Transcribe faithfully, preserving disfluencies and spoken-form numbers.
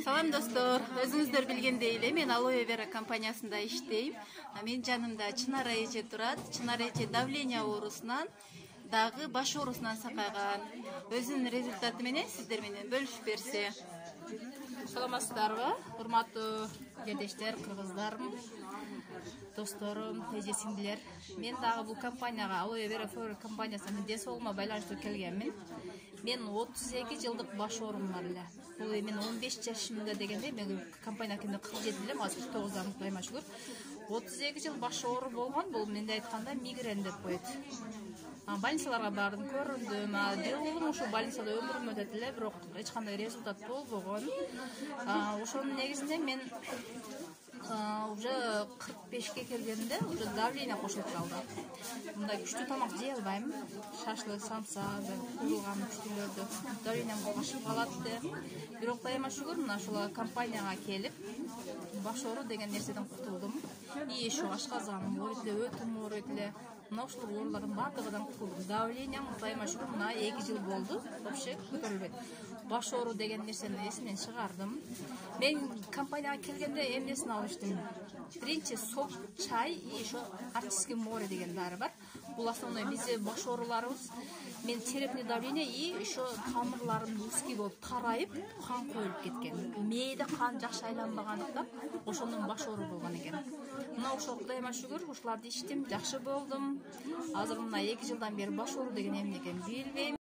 Салам достор, өзүңүздөр билгендей эле мен Алоэ Вера компаниясында иштейм. Менин жанымда Чынар эже турат. Чынар эже давление оорусунан дагы баш оорусунан сакайган. Өзүнүн результаты менен сиздер менен бөлүшүп берсе. Саламатсыздарбы, урматтуу жерлештер, кыргыздарым, досторум, эже сиңдилер. Мен дагы бул компанияга Алоэ Вера компаниясына ден соолугума байланыштуу келгенмин. Мен отуз эки жылдык баш оорум бар эле. Бул мен он беш жашымда дегенде мен компанияга келгенде кырк жети элем, азыр кырк тогуздамын, Кудайыма шүгүр. отуз эки жыл баш оору болгон, бул менде айтканда мигрен деп коет. Больницаларга бардым, көрүндүм. Жылым ушул больницада өмүрүм өтөт эле, бирок эч кандай результат болбогон. Ошонун негизинде мен уже кырк бешке келгенде уже давление кошулуп калды. Мындай күчтүү тамак жей албайм. Шашлык, самса, куурулган күчтүүлөрдү давлением кошуп калат да. Бирок Кудайыма шүгүр, мына ушул компанияга келип, баш оору деген нерседен кутулдум. И ошо ашказаным ооруйт эле, өтүм ооруйт эле. Мына ушул оорулардын баардыгынан кутулдум. Давлением Кудайыма шүгүр, мына эки жыл болду, вообще көтөрүлбөйт. Баш оору деген нерсени эсимден чыгардым. Мен компанияга келгенде эмнесин алыштым? Биринчи соп, чай и ошо артистский море деген дары бар. Бул основной бизде баш ооруларыбыз, мен черепный давление и ошо тамырларым узкий болуп тарайып, кан коюлуп кеткен. Мээде кан жакшы айланбагандыктан ошондон баш оору болгон экен. Мына ошол Кудайыма шүгүр, ушуларды ичтим, жакшы болдум. Азыр мына эки жылдан бери баш оору деген эмне экенин билбейм.